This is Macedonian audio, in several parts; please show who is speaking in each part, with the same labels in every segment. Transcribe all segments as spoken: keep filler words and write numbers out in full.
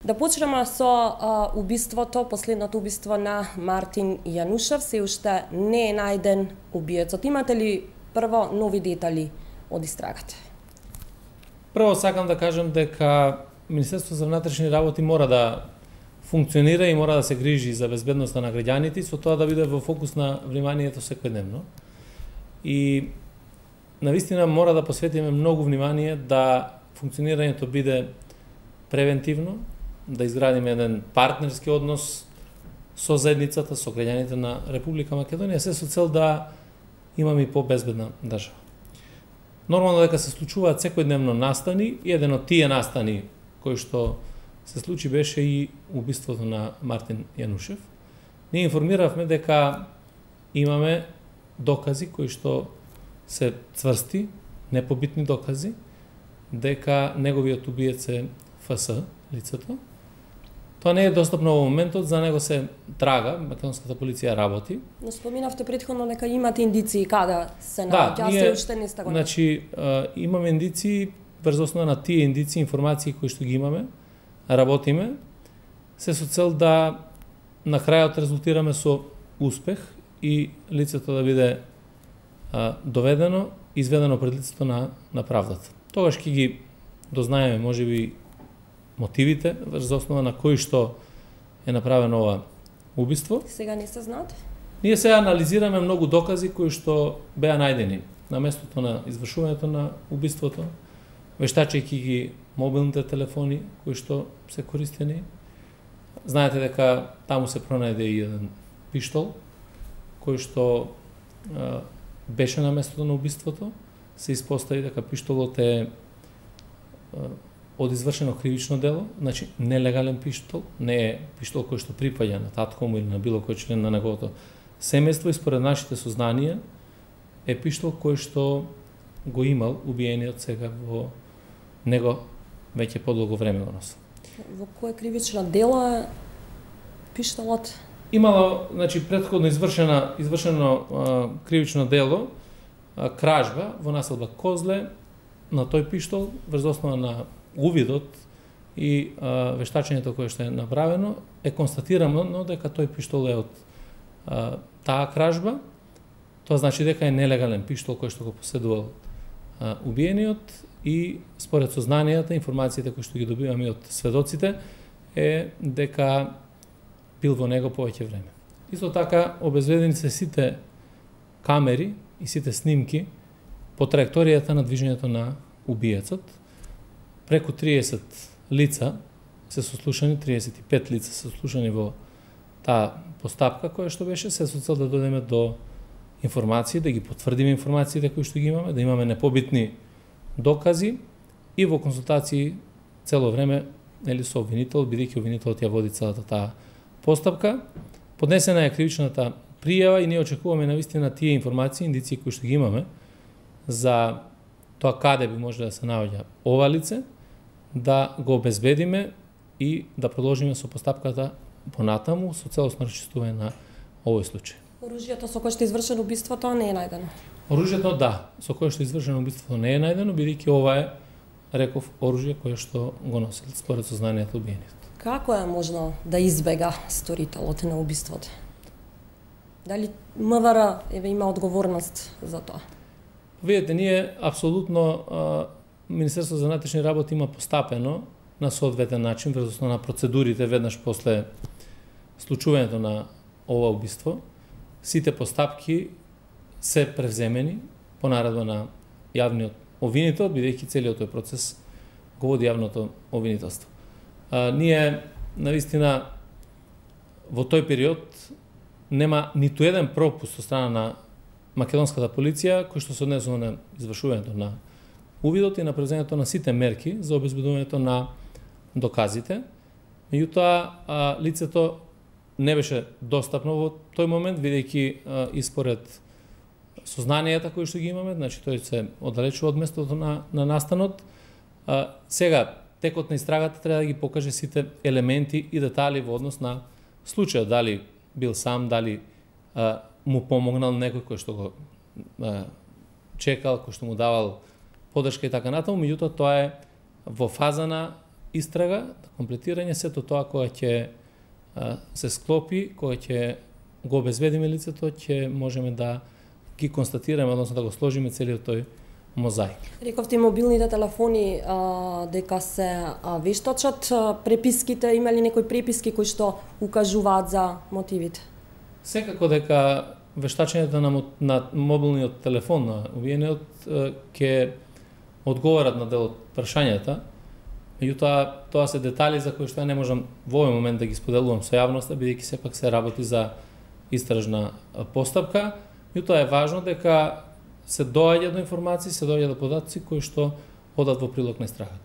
Speaker 1: Да почнеме со а, убиството, последното убиство на Мартин Јанушев. Се уште не е најден убиецот. Имате ли прво нови детали од истрагата?
Speaker 2: Прво сакам да кажам дека Министерството за внатрешни работи мора да функционира и мора да се грижи за безбедноста на граѓаните, со тоа да биде во фокус на вниманието секојдневно. И навистина мора да посветиме многу внимание да функционирањето биде превентивно, да изградиме еден партнерски однос со заедницата, со граѓаните на Република Македонија, се со цел да имаме и по-безбедна држава. Нормално дека се случуваат секојдневно настани и еден од тие настани кои што се случи беше и убиството на Мартин Јанушев. Ние информиравме дека имаме докази кои што се цврсти, непобитни докази, дека неговиот убиец е Ф С, лицето. Тоа не е достапно во моментот, за него се трага, македонската полиција работи.
Speaker 1: Но споминавте претходно дека имате индиции каде се
Speaker 2: Да,
Speaker 1: наоѓа,
Speaker 2: ние,
Speaker 1: се уште не сте го.
Speaker 2: Значи, а, имаме индиции, врз основа на тие индиции, информации кои што ги имаме, работиме, се со цел да на крајот резултираме со успех и лицето да биде а, доведено, изведено пред лицето на, на правдата. Тогаш ќе ги дознаеме, можеби, мотивите, врз основа на кои што е направено ова убиство.
Speaker 1: Сега не се знаат?
Speaker 2: Ние сега анализираме многу докази кои што беа најдени на местото на извршувањето на убиството, вештачејќи ги мобилните телефони кои што се користени. Знаете дека таму се пронајде и еден пиштол кој што а, беше на местото на убиството. Се испостави дека пиштолот е а, од извршено кривично дело, значи нелегален пиштол, не е пиштол кој што припаѓа на татко му или на било кој член на неговото семејство, и според нашите сознанија е пиштол кој што го имал убиениот сега во него веќе подолго време го носи.
Speaker 1: Во кое кривично дело е пиштолот?
Speaker 2: Имало, значи, претходно извршена извршено а, кривично дело, а, кражба во населба Козле на тој пиштол врз основа на увидот и а, вештачењето кое што е направено, е констатирано но дека тој пиштол е од а, таа кражба. Тоа значи дека е нелегален пиштол кој што го поседувал а, убиениот, и според сознанијата, информациите кои што ги добиваме од сведоците, е дека бил во него повеќе време. Исто така обезвредени се сите камери и сите снимки по траекторијата на движењето на убиецот. Преку триесет лица се сослушани, триесет и пет лица се сослушани во таа постапка која што беше, се со цел да додеме до информации, да ги потврдиме информациите кои што ги имаме, да имаме непобитни докази и во консултации цело време, нели, со обвинител, бидејќи обвинителот ја води целата таа постапка. Поднесена е кривичната пријава и ние очекуваме навистина тие информации, индиции кои што ги имаме за тоа каде би може да се наоѓа ова лице, да го обезбедиме и да продолжиме со постапката понатаму со целосно расчистување на овој случај.
Speaker 1: Оружјето со кое што е извршено убиството не е најдено?
Speaker 2: Оружјето, да, со кое што е извршено убиството не е најдено, бидејќи ова е, реков, оружје кое што го носил според сознанието убиениот.
Speaker 1: Како е можно да избега сторителот на убиството? Дали М В Р еве има одговорност за тоа?
Speaker 2: Видете, ние апсолутно Министерството за внатрешни работи има постапено на соодветен начин врз основа на процедурите веднаш после случувањето на ова убиство. Сите постапки се превземени по наредба на јавниот обвинител, бидејќи целиот тој процес го води јавното обвинителство. А, ние, навистина, во тој период нема ниту еден пропуст од страна на македонската полиција кој што се однесува на извршувањето на увидот и на превземањето на сите мерки за обезбедувањето на доказите. Меѓутоа, лицето не беше достапно во тој момент, бидејќи и според сознанијата кои што ги имаме, значи тој се оддалечува од местото на, на настанот. А, сега, текот на истрагата треба да ги покаже сите елементи и детали во однос на случајот, дали бил сам, дали а, му помогнал некој кој што го а, чекал, кој што му давал поддршка и така натаму, меѓутоа тоа е во фаза на истрага, комплетирање, сето тоа кога ќе се склопи, кога ќе го обезбедиме лицето, ќе можеме да ги констатираме, односно да го сложиме целиот тој мозаик.
Speaker 1: Рековте мобилните телефони а, дека се а, вештачат, а, преписките, има ли некои преписки кои што укажуваат за мотивите?
Speaker 2: Секако дека вештачењето на, на мобилниот телефон на убиениот ќе одговорат на дел од прашањата, меѓутоа тоа се детали за кои што ја не можам во овој момент да ги споделувам со јавноста, бидејќи сепак се работи за истражна постапка. Меѓутоа е важно дека се доаѓа до информации, се доаѓа до податоци кои што одат во прилог на истрагата.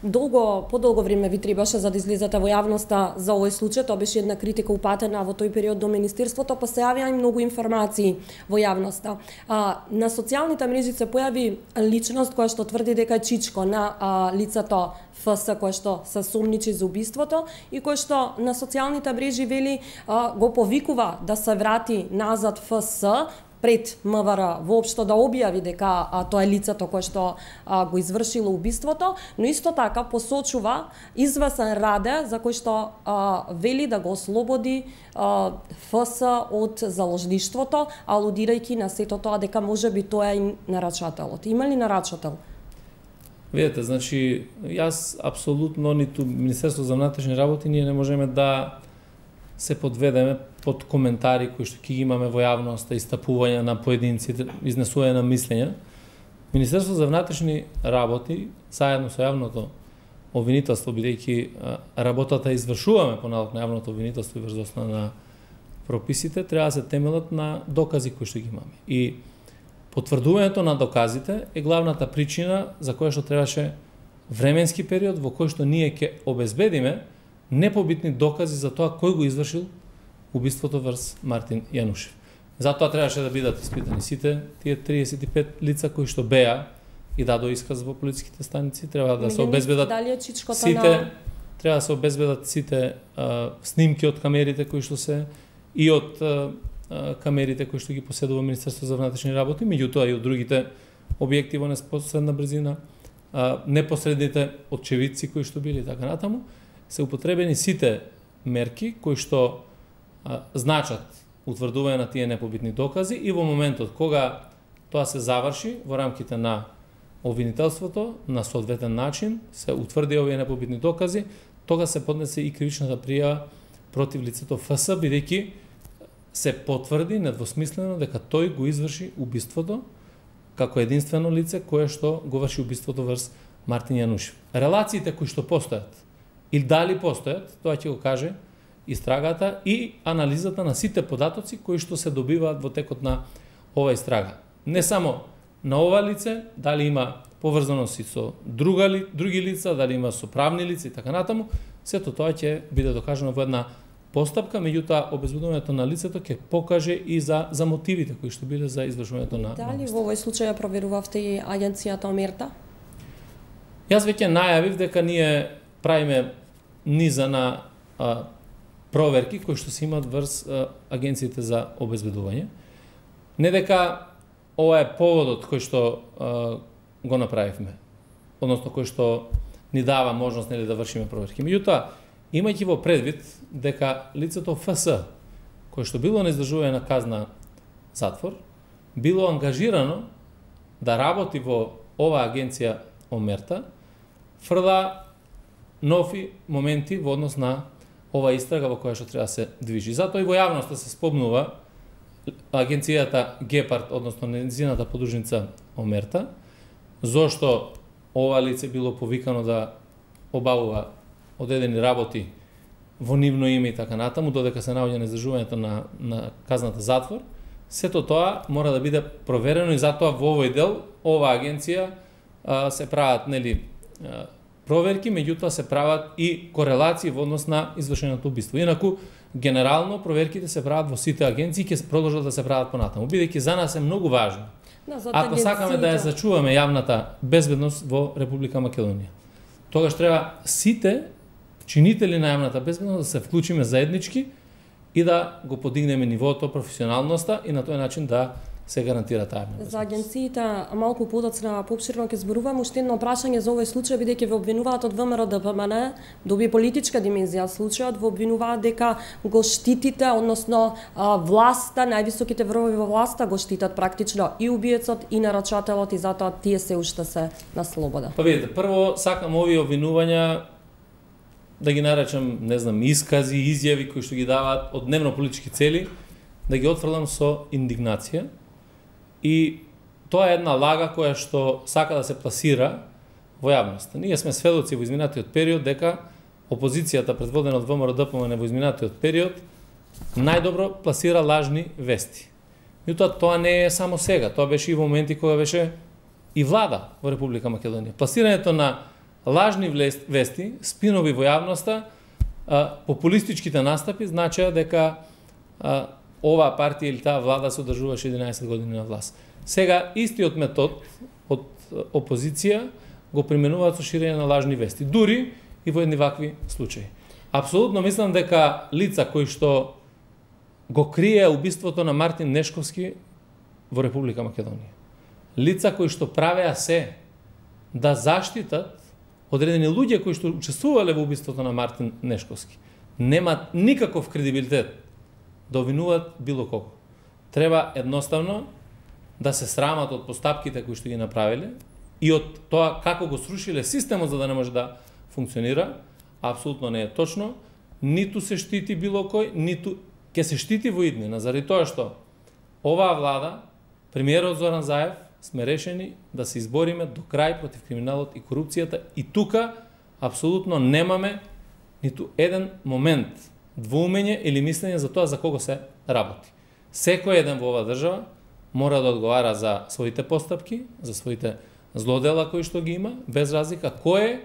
Speaker 1: Долго, подолго време ви требаше за да излезете во јавноста за овој случај, тоа беше една критика упатена во тој период до Министерството, па се јавија и многу информации во јавноста. А, на социјалните мрежи се појави личност која што тврди дека е чичко на а, лицето Ф С кој што се сомничи за убиството и кој што на социјалните мрежи вели а, го повикува да се врати назад Ф С пред МВР воопшто да објави дека а, тоа е лицето кое што а, го извршило убиството, но исто така посочува извесен Раде за кој што а, вели да го ослободи а, Ф С од заложништвото, алудирајќи на сето тоа дека можеби тоа е и нарачателот. Има ли нарачател?
Speaker 2: Видете, значи, јас апсолутно ниту Министерство за внатрешни работи ние не можеме да се подведеме под коментари кои што ќе ги имаме во јавноста, истапување на поединци, изнесување на мислења. Министерство за внатрешни работи, заедно со јавното обвинителство, бидејќи работата извршуваме по налог на јавното обвинителство и врз основа на прописите, треба да се темелат на докази кои што ги имаме. И потврдувањето на доказите е главната причина за која што требаше временски период во кој што ние ќе обезбедиме непобитни докази за тоа кој го извршил убиството врз Мартин Јанушев. Затоа требаше да бидат испитани сите тие триесет и пет лица кои што беа и дадо исказ во полициските станици, треба да се обезбедат сите на... треба да се обезбедат сите а, снимки од камерите кои што се и од а, камерите кои што ги поседува Министерство за внатрешни работи, меѓутоа и од другите објекти во непосредна брзина, а, непосредните очевидци кои што били така натаму, се употребени сите мерки кои што а, значат утврдување на тие непобитни докази и во моментот кога тоа се заврши во рамките на обвинителството на соодветен начин, се утврди овие непобитни докази, тога се поднесе и кривичната пријава против лицето Ф С, бидејќи се потврди недвосмислено дека тој го изврши убиството како единствено лице кое што го врши убиството врз Мартин Јанушев. Релациите кои што постојат или дали постојат, тоа ќе го каже истрагата и анализата на сите податоци кои што се добиваат во текот на ова истрага. Не само на ова лице, дали има поврзаност со друга ли, други лица, дали има со правни лица и така натаму, сето тоа ќе биде докажано во една постапка, меѓутоа обезбедувањето на лицето ќе покаже и за за мотивите кои што биле за извршувањето на.
Speaker 1: Дали во овој случај ја проверувавте и агенцијата Омерта?
Speaker 2: Јас веќе најавив дека ние правиме низа на а, проверки кои што се имаат врз а, агенциите за обезбедување. Не дека ова е поводот кој што а, го направивме, односно кој што ни дава можност нели да вршиме проверки. Меѓутоа, имајќи во предвид дека лицето Ф С, кој што било на издржување на казна затвор, било ангажирано да работи во оваа агенција Омерта, фрла нови моменти во однос на ова истрага во која што треба да се движи. Затоа и во јавноста се спомнува агенцијата Гепард, односно незината подружница Омерта, зошто ова лице било повикано да обавува одредени работи во нивно име и така натаму, додека се наоѓа на издржувањето на, на казната затвор. Сето тоа мора да биде проверено и затоа во овој дел ова агенција а, се прават нели а, проверки, меѓутоа се прават и корелации во однос на извршеното убиство. Инаку генерално проверките се прават во сите агенции и ќе продолжат да се прават понатаму, бидејќи за нас е многу важно. Да, ако сакаме да ја зачуваме јавната безбедност во Република Македонија, тогаш треба сите чинители на јавната безбедност да се вклучиме заеднички и да го подигнеме нивото, професионалноста и на тој начин да се гарантира таа.
Speaker 1: За агенциите малку подоцна поопширно ќе зборувам, уште едно прашање за овој случај, бидејќи ве обвинуваат од ВМРО Д П М Н, доби политичка димензија случајот, ве обвинуваат дека го штитите, односно власта, највисоките врвови во власта го штитат практично и убиецот и нарачателот и затоа тие се уште се на слобода.
Speaker 2: Па видите, прво сакам овие обвинувања да ги наречам, не знам, искази, изјави кои што ги даваат од дневно политички цели, да ги отфрлам со индигнација. И тоа е една лага која што сака да се пласира во јавноста. Ние сме сведоци во изминатиот период дека опозицијата предводена од ВМРО Д П М Н во изминатиот период најдобро пласира лажни вести. Меѓутоа тоа не е само сега, тоа беше и во моменти кога беше и влада во Република Македонија. Пласирањето на лажни вести, спинови во јавноста, популистичките настапи значеа дека оваа партија или таа влада се одржуваше единаесет години на власт. Сега истиот метод од опозиција го применуваат со ширење на лажни вести, дури и во едни вакви случаи. Апсолутно мислам дека лица кои што го крие убиството на Мартин Нешковски во Република Македонија, лица кои што правеа се да заштитат одредени луѓе кои што учествувале во убиството на Мартин Нешковски, немаат никаков кредибилитет да обвинуваат било кого. Треба едноставно да се срамат од постапките кои што ги направиле и од тоа како го срушиле системот за да не може да функционира. Апсолутно не е точно. Ниту се штити било кој, ниту ќе се штити во иднина, заради тоа што оваа влада, премиерот Зоран Заев, сме решени да се избориме до крај против криминалот и корупцијата и тука апсолутно немаме ниту еден момент двоумење или мислење за тоа за кого се работи. Секој еден во оваа држава мора да одговара за своите постапки, за своите злодела кои што ги има, без разлика кој е,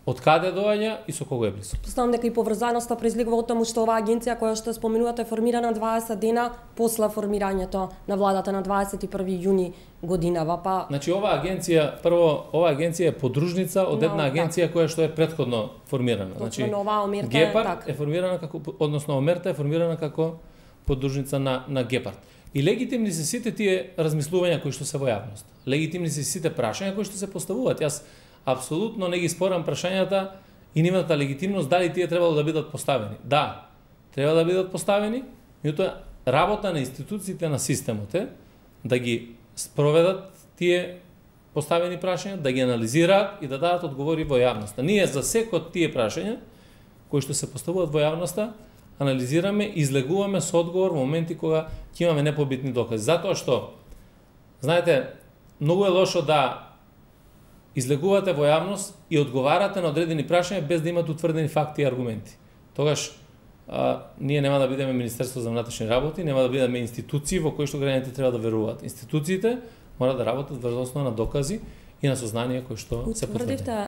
Speaker 2: од каде доаѓа и со кого е близко.
Speaker 1: Представам дека и поврзаноста произлегува од таму што оваа агенција која што споменувате е формирана дваесет дена после формирањето на владата на дваесет и први јуни годинава. Па
Speaker 2: Значи оваа агенција, прво оваа агенција е подружница од една агенција која што е претходно формирана.
Speaker 1: Значи Омерта
Speaker 2: Гепард е формирана како, односно Омерта е формирана како подружница на на Гепард. И легитимни се сите тие размислувања кои што се во јавност. Легитимни се сите прашања кои што се поставуваат. Јас апсолутно не ги спорам прашањата и нивната легитимност дали тие требало да бидат поставени. Да, треба да бидат поставени, меѓутоа работа на институциите на системот е да ги спроведат тие поставени прашања, да ги анализираат и да дадат одговори во јавноста. Ние за секој од тие прашања кои што се поставуваат во јавноста анализираме и излегуваме со одговор во моменти кога ќе имаме непобитни докази. Затоа што, знаете, многу е лошо да излегувате во јавност и одговарате на одредени прашања без да имате утврдени факти и аргументи. Тогаш а, ние нема да бидеме Министерство за внатрешни работи, нема да бидеме институции во кои што граѓаните треба да веруваат. Институциите мора да работат врз основа на докази и на сознание кои што се потврдени.